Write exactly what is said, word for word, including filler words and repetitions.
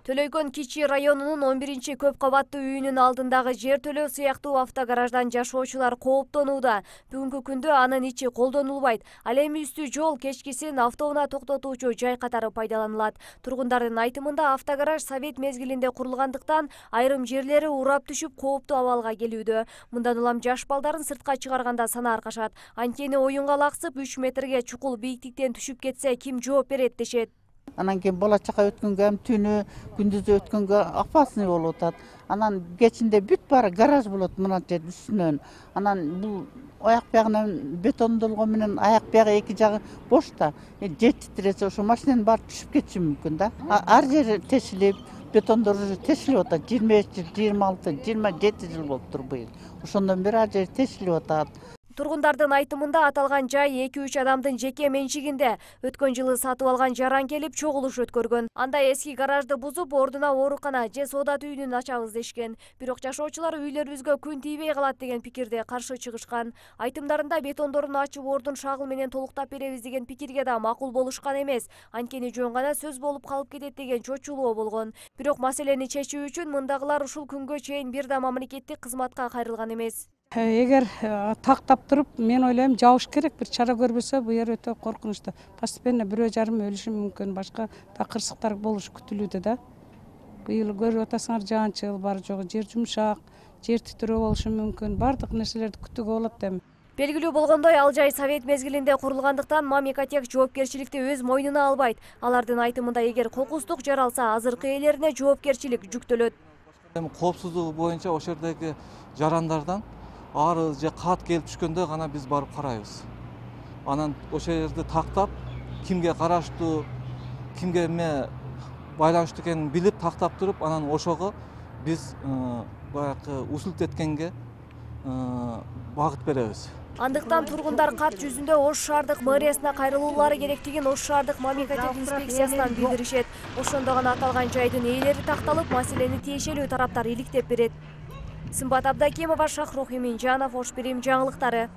Төлөйкөн Кичи районунун он биринчи көп кабаттуу үйүнүн алдындагы жер төлөө сыяктуу автогараждан жашоочулар кооптонууда. Бүгүнкү күндө анын ичи колдонулбайт. Ал эми үстү жол кечкисин автоунаа токтотуучу жай катары пайдаланылат. Тургундардын айтымында автогараж совет мезгилинде курулгандыктан айрым жерлери урап түшүп кооптуу абалга келүүдө. Мындан улам жаш балдарын сыртка чыгарганда сана аркашат. Анткени оюнга лаксып үч метрге чукул бийиктиктен түшүп кетсе ким жооп берет дешет. Анан кийин бала чака өткөнгө ham түнү күндүзү өткөнгө опасный болуп атат. Анан кечинде бүт баары гараж болот мына жер үстүнөн. Анан бул аяк биягынан бетондолгон менен аяк бияғы эки жагы бош да. Жер титиресе ошо машинанын баары түшүп кетиши мүмкүн да. Ар жери тешилип, бетондор уже тешилип атат. жыйырма беш жыл, жыйырма алты, жыйырма жети жыл болуптур быйыл. Ошондон бери ар жери тешилип атат. Тургундардын айтымында аталган жай эки үч адамдын жеке менчигинде. Өткөн жылы сатып алган жаран келип чогулуш өткөргөн. Анда эски гаражды бузуп, ордуна оорукана же соодат үйүнүн ачабыз дешкен. Бирок жашоочулар үйлөрүбүзгө күн тийбей калат деген пикирде каршы чыгышкан. Айтымдарында бетондорун ачып ордун шагыл менен толуктап беребиз деген пикирге да макул болушкан эмес. Анткени жөн гана сөз болуп калып кетет деген чочулоо болгон. Бирок маселени чечүү үчүн мындагылар ушул күнгө чейин бир да мамлекеттик кызматка кайрылган эмес. Эгер тактап туруп, мен ойлойм жабыш керек, бир чара көрбөсө бу жер өтө коркунучтуу. Постепенно бирөө жарым өлүшү мүмкүн, башка да кырсыктар болушу күтүлүүдө да. Быйыл көрүп атасыңар жаан-чыл бар жогу, жер жумшак, жер титирөө болушу мүмкүн. Бардык нерселерди күтүүгө болот эми. Белгилүү болгондой, ал жай совет мезгилинде курулгандыктан Мамикотек жоопкерчиликти өз мойнуна албайт. Алардын айтымында эгер кокустук жаралса, азыркы ээлерине жоопкерчилик жүктөлөт. Эми коопсуздугу боюнча ошол жердеги жарандардан ары же кат келип түшкөндө гана биз барып карайбыз. Анан ошол жерди тактап, кимге караштуу, кимге эме байланыштуу экенин билип тактап туруп, анан ошого биз баягы усулт эткенге багыт беребиз. Андыктан тургундар кат жүзүндө Ош шаардык мэриясына кайрылуулары керектигин Ош шаардык Мамикотек инспекциясынан билдиришет. Ошондо гана аталган жайдын ээлери такталып, маселени тиешелүү тараптар иликтеп берет. Сымбат Абдакимова, Шахрух Эминжанов, Ош Бирим жаңылыктары.